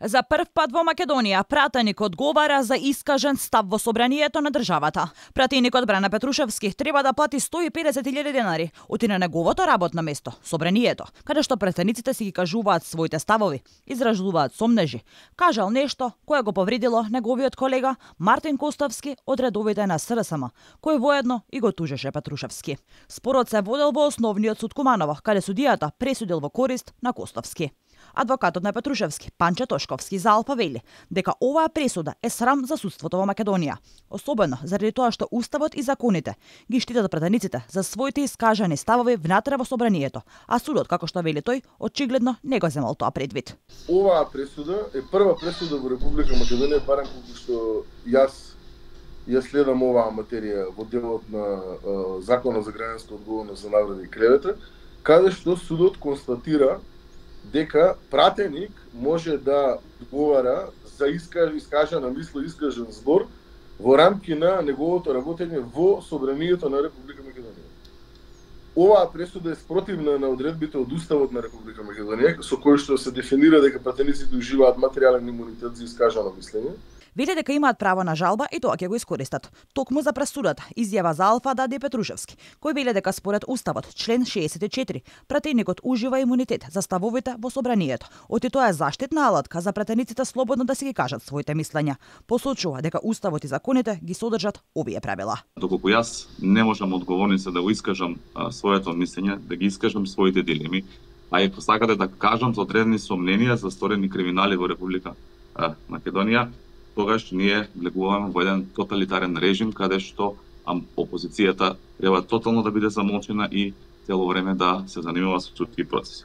За прв пат во Македонија пратеник одговара за искажен став во собранието на државата. Пратеникот Бране Петрушевски треба да плати 150.000 денари оти на неговото работно место, собранието, каде што пратениците си ги кажуваат своите ставови, изражуваат сомнежи. Кажал нешто кое го повредило неговиот колега Мартин Костовски од редовите на СРСМ, кој воедно и го тужеше Петрушевски. Спорот се водел во основниот суд Куманово, каде судијата пресудил во корист на Костовски. Адвокатот на Петрушевски, Панче Тошковски, за Алфа вели дека оваа пресуда е срам за судството во Македонија, особено заради тоа што уставот и законите ги штитат пратениците за своите искажани ставови внатре во собранието, а судот, како што вели тој, очигледно не го земал тоа предвид. Оваа пресуда е прва пресуда во Република Македонија, барем колку што ја следам оваа материја во делот на Законот за граѓанска одговорност за навреди и клевета, каде што судот констатира дека пратеник може да одговара за искажана мисла, искажан збор во рамки на неговото работење во собранието на Република Македонија. Оваа пресуда е спротивна на одредбите од Уставот на Република Македонија, со кој што се дефинира дека пратениците уживаат материјален имунитет за искажано мислење. Вели дека имаат право на жалба и тоа ќе го искористат. Токму за пресудата, изјава за Алфа даде Петрушевски, кој вели дека според Уставот, член 64, пратеникот ужива имунитет за ставовите во собранието. Оти тоа е заштитна алатка за пратениците слободно да си ги кажат своите мислења. Посочува дека Уставот и законите ги содржат овие правила. Доколку јас не можам одговорница да го искажам своето мислење, да ги искажам своите дилеми, а и посакате да кажам за одредени сомненија за сторени криминали во Република Македонија, тогаш ние влегуваме во еден тоталитарен режим каде што опозицијата треба тотално да биде замолчена и цело време да се занимава со судски процеси.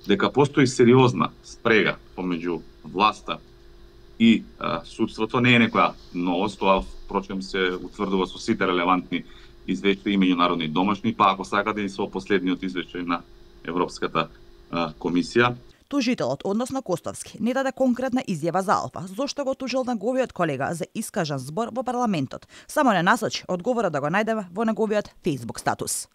Дека постои сериозна спрега помеѓу власта и судството не е некоја новост, тоа впрочем се утврдува со сите релевантни извештаи и меѓународни домашни, па ако сакате и со последниот извештај на Европската комисија. Тужителот, односно Костовски, не даде конкретна изјава за Алфа, зошто го тужил неговиот колега за искажан збор во парламентот. Само не насочи одговорот да го најдеме во неговиот Facebook статус.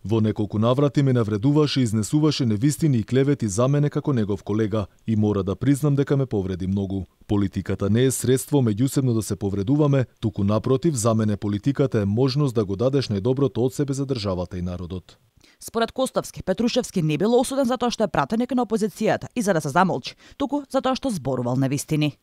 Во неколку наврати ме навредуваше и изнесуваше невистини и клевети за мене како негов колега и мора да признам дека ме повреди многу. Политиката не е средство меѓусебно да се повредуваме, туку напротив, за мене политиката е можност да го дадеш најдоброто од себе за државата и народот. Според Костовски, Петрушевски не бил осуден за тоа што е пратеник на опозицијата и за да се замолчи, туку за тоа што зборувал невистини.